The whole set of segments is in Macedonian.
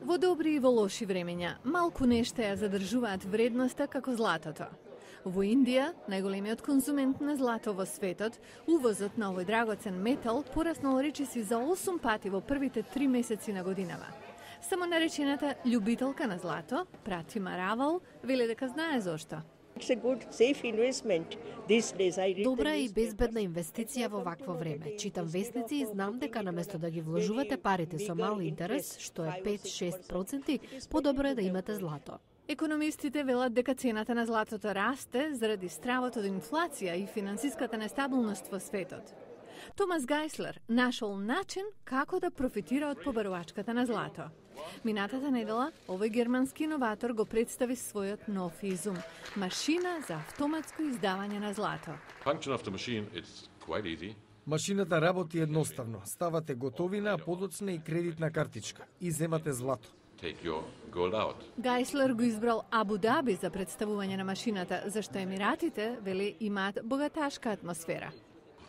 Во добри и во лоши времења, малку нешта ја задржуваат вредноста како златото. Во Индија, најголемиот конзумент на злато во светот, увозот на овој драгоцен метал пораснал речиси за 8 пати во првите 3 месеци на годинава. Само наречената љубителка на злато, Пратима Равал, веле дека знае зошто. Добра и безбедна инвестиција во вакво време. Читам весници и знам дека наместо да ги вложувате парите со мал интерес, што е 5-6%, подобро е да имате злато. Економистите велат дека цената на златото расте заради стравот од инфлација и финансиската нестабилност во светот. Томас Гайслер нашол начин како да профитира од побарувачката на злато. Минатата недела, овој германски иноватор го представи својот нов изум – машина за автоматско издавање на злато. Машината работи едноставно. Ставате готовина, подоцна и кредитна картичка и земате злато. Гайслер го избрал Абу Даби за представување на машината, зашто Емиратите, вели, имаат богаташка атмосфера.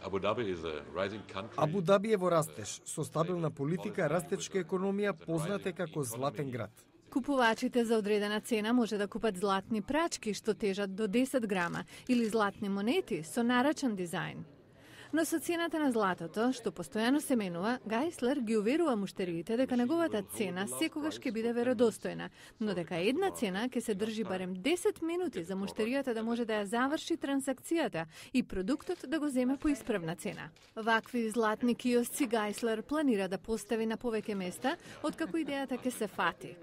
Абу Даби е во растеж, со стабилна политика, растечка економија, позната како златен град. Купувачите за одредена цена може да купат златни прачки што тежат до 10 грама или златни монети со нарачен дизајн. Но со цената на златото, што постојано се менува, Гайслер ги уверува муштериите дека неговата цена секогаш ќе биде веродостојна, но дека една цена ќе се држи барем 10 минути за муштеријата да може да ја заврши трансакцијата и продуктот да го земе по исправна цена. Вакви златни киосци Гайслер планира да постави на повеќе места, откако идејата ќе се фати.